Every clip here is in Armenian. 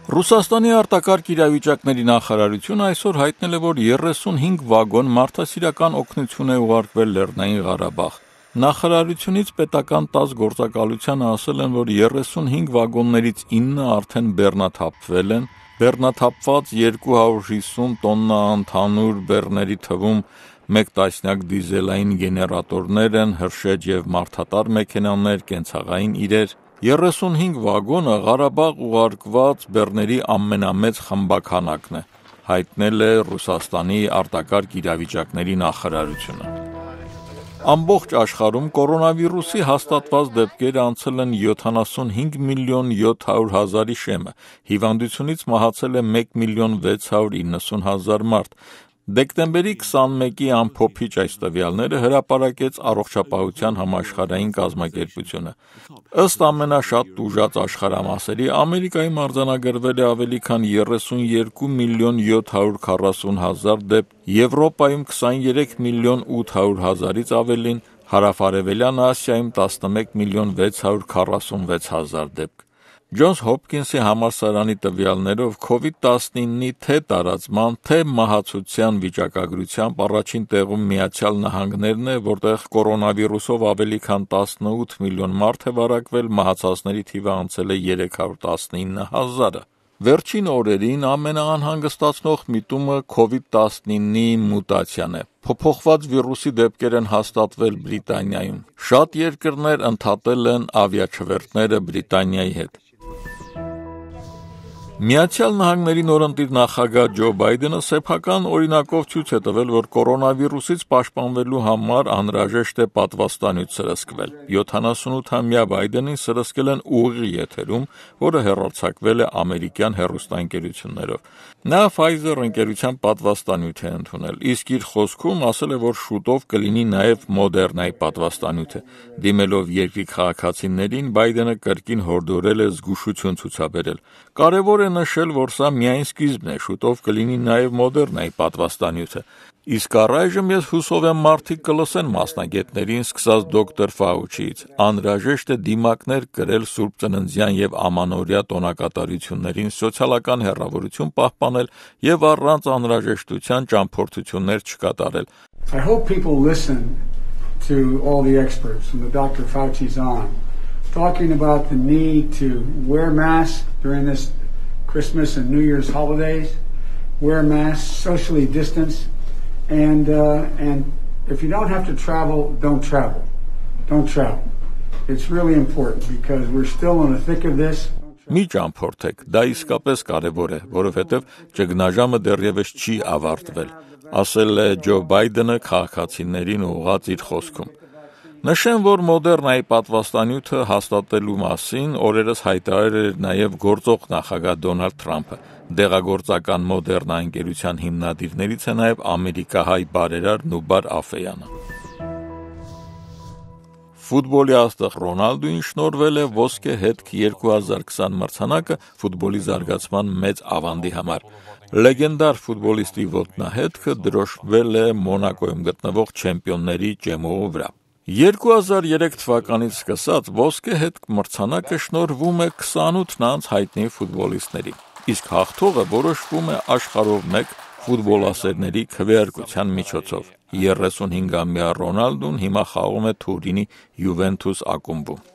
Ռուսաստանի արտակարգ իրավիճակների նախարարությունը այսօր հայտնել է, որ 35 վագոն մարդասիրական օգնություն է ուղարկվել Լեռնային Ղարաբաղ։ Նախարարությունից պետական 10 գործակալությանը ասել են, որ 35 վագոններից 9 արդեն բեռնաթափվել են, բեռնաթափված 250 տոննա ընդհանուր բեռների թվում 1 տասնյակ դիզելային գեներատորներ են, հրշեջ և մարդատար մեքենաներ, կենցաղային իրեր։ 35 վագոնը Ղարաբաղ ուղարկված բեռների ամենամեծ խմբաքանակն է, հայտնել է Ռուսաստանի արտակարգ իրավիճակների նախարարությունը։ Ամբողջ աշխարհում կորոնավիրուսի հաստատված դեպքերը անցել են 75 միլիոն 700 հազարի շեմը, հիվանդությունից մահացել է 1 միլիոն 690 հազար մարդ։ Դեկտեմբերի 21-ի ամփոփիչ այս տվյալները հրապարակեց Առողջապահության համաշխարհային կազմակերպությունը։ Ըստ ամենաշատ տուժած աշխարհամասերի, Ամերիկայում արձանագրվել է ավելի քան 32 միլիոն 740 հազար դեպք, Եվրոպայում 23 միլիոն 800 հազարից ավելին, Հարավարևելյան Ասիայում 11 միլիոն 646 հազար դեպք։ Ջոնս Հոփքինսի համալսարանի տվյալներով COVID-19-ի թե տարածման, թե մահացության վիճակագրությամբ առաջին տեղում Միացյալ Նահանգներն է, որտեղ կորոնավիրուսով ավելի քան 18 միլիոն մարդ է վարակվել, մահացածների թիվը անցել է 319 հազարը։ Վերջին օրերին ամենաանհանգստացնող միտումը COVID-19-ի մուտացիան է։ Փոփոխված վիրուսի դեպքեր են հաստատվել Բրիտանիայում։ Շատ երկրներ ընդհատել են ավիաչվերթները Բրիտանիայի հետ։ Միացյալ Նահանգների նորընտիր նախագահ Ջո Բայդենը սեփական օրինակով ցույց է տվել, որ կորոնավիրուսից պաշտպանվելու համար անհրաժեշտ է պատվաստանյութ սրսկվել։ 78-ամյա Բայդենին սրսկել են ուղիղ եթերում, որը հեռարձակվել է ամերիկյան հեռուստաընկերություններով։ Նա Pfizer ընկերության պատվաստանյութ է ընդունել, իսկ իր խոսքում ասել է, որ շուտով կլինի նաև Moderna-ի պատվաստանյութը։ Դիմելով երկրի քաղաքացիներին, Բայդենը կրկին հորդորել է զգուշություն ցուցաբերել։ Կարևոր է նշել, որ սա միայն սկիզբն է, շուտով կլինի նաև Moderna-ի պատվաստանյութը։ Իսկ առայժմ ես հուսով եմ մարդիկ կլսեն մասնագետներին, սկսած դոկտոր Ֆաուչիից։ Անհրաժեշտ է դիմակներ կրել Սուրբ Ծննդյան և Ամանորյա տոնակատարություններին, սոցիալական հեռավորություն պահպանել և առանց անհրաժեշտության ճամփորդություններ չկատարել։ I hope people listen to all the experts from the Dr. Fauci's on, talking about the need to wear masks during this Christmas and New Year's holidays, wear masks, socially distance, and if you don't have to travel, don't travel. Don't travel. It's really important because we're still in the thick of this. Մի ճամփորդեք, դա իսկապես կարևոր է, որովհետև ճգնաժամը դեռևս չի ավարտվել, ասել է Ջո Բայդենը քաղաքացիներին ուղղած իր խոսքում։ Նշեմ, որ Moderna-ի պատվաստանյութը հաստատելու մասին օրերս հայտարարել էր նաև գործող նախագահ Դոնալդ Թրամփը։ Դեղագործական Moderna ընկերության հիմնադիրներից է նաև ամերիկահայ բարերար Նուբար Աֆեյանը։ Ֆուտբոլի աստղ Ռոնալդուին շնորհվել է ոսկե հետք 2020 մրցանակը ֆուտբոլի զարգացման մեծ ավանդի համար։ Լեգենդար ֆուտբոլիստի ոտնահետքը դրոշմվել է Մոնակոյում գտնվող չեմպիոնների ճեմուղու վրա։ 2003 թվականից սկսած ոսկե հետք մրցանակը շնորհվում է 28 անց հայտնի ֆուտբոլիստների, իսկ հաղթողը որոշվում է աշխարհով մեկ ֆուտբոլասերների քվեարկության միջոցով։ 35-ամյա Ռոնալդուն հիմա խաղում է Թուրինի Յուվենթուս ակումբում։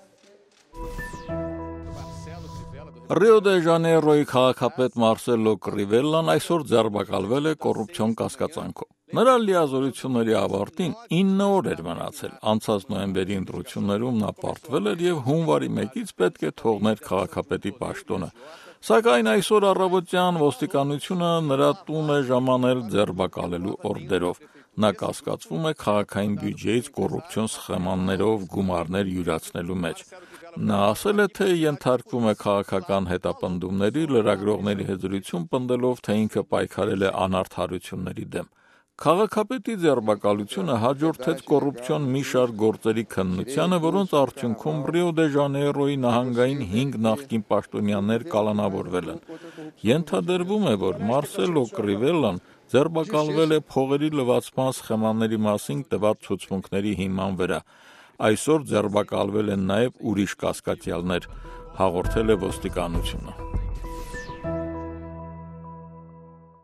Ռիո դե Ժանեյրոյի քաղաքապետ Մարսելո Կրիվելլան այսօր ձերբակալվել է կոռուպցիոն կասկածանքով։ Նրա լիազորությունների ավարտին 9 օր էր մնացել։ Անցած նոյեմբերի ընտրություններում նա պարտվել էր եւ հունվարի 1-ից պետք է թողներ քաղաքապետի պաշտոնը։ Սակայն այսօր առավոտյան ոստիկանությունը նրա տուն է ժամանել ձերբակալելու օրդերով։ Նա կասկածվում է քաղաքային բյուջեից կոռուպցիոն սխեմաններով գումարներ յուրացնելու մեջ։ Նա ասել է, թե ենթարկվում է քաղաքական հետապնդումների, լրագրողների հետ զրույցում պնդելով, թե ինքը պայքարել է անարդարությունների դեմ։ Քաղաքապետի ձերբակալությունը հաջորդեց կոռուպցիոն մի շարք գործերի քննությանը, որոնց արդյունքում Ռիո դե Ժանեյրոյի նահանգային 5 նախկին պաշտոնյաներ կալանավորվել են։ Ենթադրվում է, որ Մարսելո Կրիվելլան ձերբակալվել է փողերի լվացման սխեմաների մասին տված ցուցմունքների հիման վրա։ Այսօր ձերբակալվել են նաև ուրիշ կասկածյալներ, հաղորդել է ոստիկանությունը։